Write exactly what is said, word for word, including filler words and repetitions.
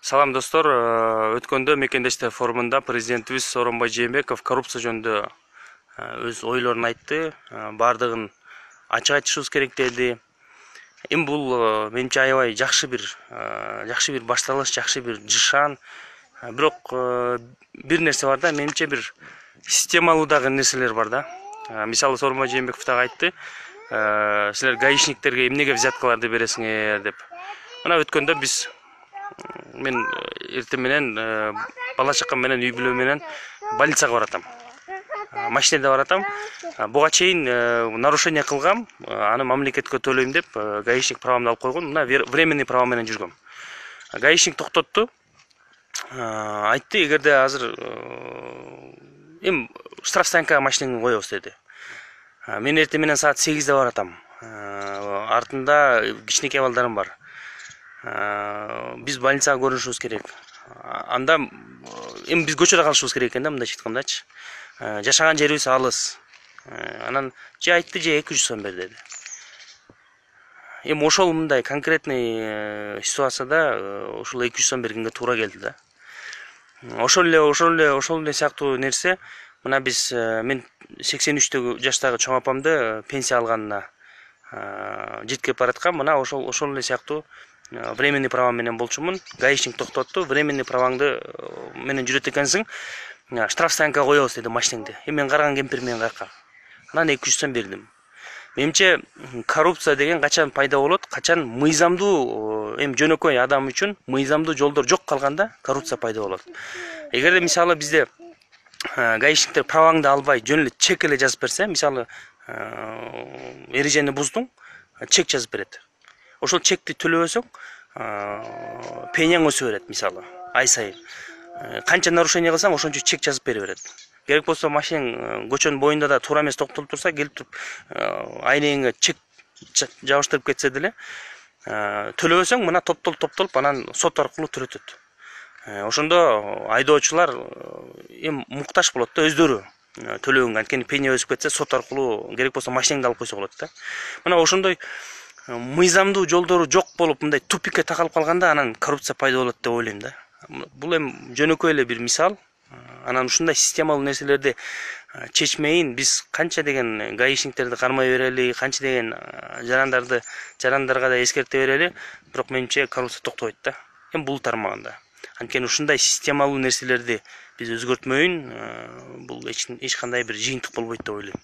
Салам достор, өткөндө мекендештер форумунда президентибиз Сооронбай Жээнбеков коррупция жөнүндө өз ойлорун айтты, бардыгын ачык айтышыбыз керек деди. Эми бул менимче аябай жакшы бир, жакшы бир башталыш, жакшы бир жышан. Бирок бир нерсе бар да, менимче бир системалуу дагы нерселер бар да. Мисалы Сооронбай Жээнбеков дагы айтты, силер гаишниктерге эмнеге взяткаларды бересиңер деп. Мына өткөндө биз мен эртең менен бала чакам менен үй бүлө менен больницага баратам. Машинеде баратам. Буга чейин нарушение кылгам, аны мамлекетке төлөйм деп гаишник правамды алып койгон. Мына временный права менен жүргөм. Гаишник токтотту. Айтты, эгерде азыр эм штрафстоянкага машинеңди коебуз деди. Мен эртең менен саат сегизде баратам. Артында кичинекей балдарым бар. Биз больницага көрүнүшүбүз керек. Анда эми биз көчөдө калышыбыз керек экен да, мындайча айткандачы. Жашаган жерибиз алыс. Анан же айтты, же эки жүз сом бер деди. Эми ошол мындай конкретный ситуацияда ошол эки жүз сом бергенге туура келди да. Ошол эле, ошол эле, ошол эле сыяктуу нерсе. Мына биз мен сексен үчтөгү жаштагы чоң апамды пенсия алганына жеткирип бараткам. Мына ошол ошол эле сыяктуу временный права менен болчумун. Гаишник токтотту. Временный праваңды менен жүрөт экенсиң. Штрафстоянкага коебуз деди машинеңди. Эми мен караган кемпир менен каяка. Анан эки жүз сом бердим. Менимче коррупция деген качан пайда болот? Качан мыйзамдуу, эми жөнөкөй адам үчүн мыйзамдуу жолдор жок калганда коррупция пайда болот. Эгерде мисалы бизде гаишниктер праваңды албай, жөн эле чек эле жазып берсе, мисалы эрежени буздуң, чек жазып берет. Ошол чекти төлөбөсөң, пенияң өсө берет, мисалы, ай сайын. Канча нарушение кылсаң, ошончо чек жазып бере берет. Керек болсо машинең көчөнүн боюнда да туура эмес токтолуп турса, келип туруп айнеңе чек жабыштырып кетсе деле, төлөбөсөң, мына топтолуп топтолуп анан сот аркылуу төрөтөт. Ошондо айдоочулар эми муктаж болот да, өздөрү төлөгөнгө. Анткени пения өсүп кетсе, сот аркылуу керек болсо машинеңди алып койсо болот да. Мына ошондой мыйзамдуу жолдору жок болуп, мындай тупикке такалып калганда, анан коррупция пайда болот деп ойлойм да. Бул эми жөнөкөй эле бир мисал. Анан ушундай системалуу нерселерди чечмейин биз канча деген гаишниктерди кармай берели, канча деген жарандарды, жарандарга да эскерте берели, бирок менимче коррупция токтобойт да. Эми бул тармагында. Анткени ушундай системалуу нерселерди биз өзгөртмөйүн, бул эч кандай бир жыйынтык болбойт деп ойлойм.